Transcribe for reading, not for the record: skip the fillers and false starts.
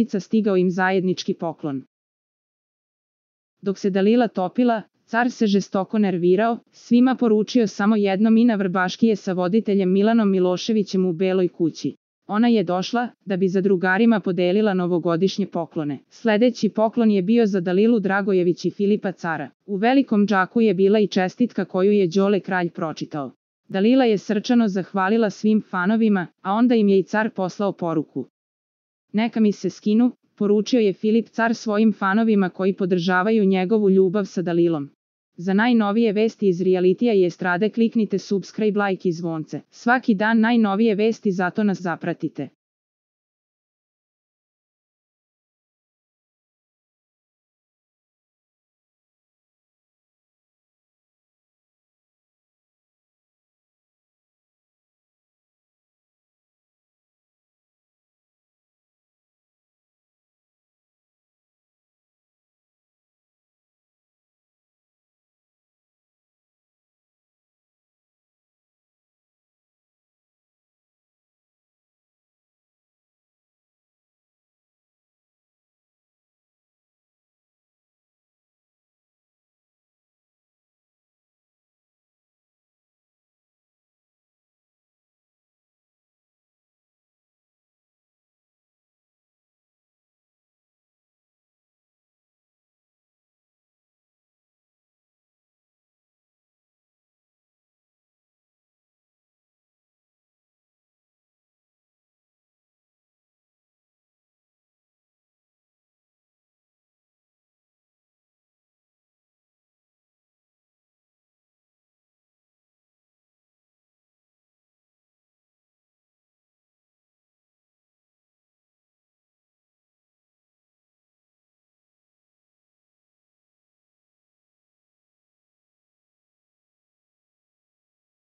dvojica stigao im zajednički poklon. Dok se Dalila topila, car se žestoko nervirao, svima poručio samo jedno: Mina Vrbaškije sa voditeljem Milanom Miloševićem u Beloj kući. Ona je došla, da bi za drugarima podelila novogodišnje poklone. Sledeći poklon je bio za Dalilu Dragojević i Filipa cara. U velikom džaku je bila i čestitka koju je Đole kralj pročitao. Dalila je srčano zahvalila svim fanovima, a onda im je i car poslao poruku. Neka mi se skinu, poručio je Filip car svojim fanovima koji podržavaju njegovu ljubav sa Dalilom. Za najnovije vesti iz realitija i estrade kliknite subscribe, like i zvonce. Svaki dan najnovije vesti, zato nas zapratite.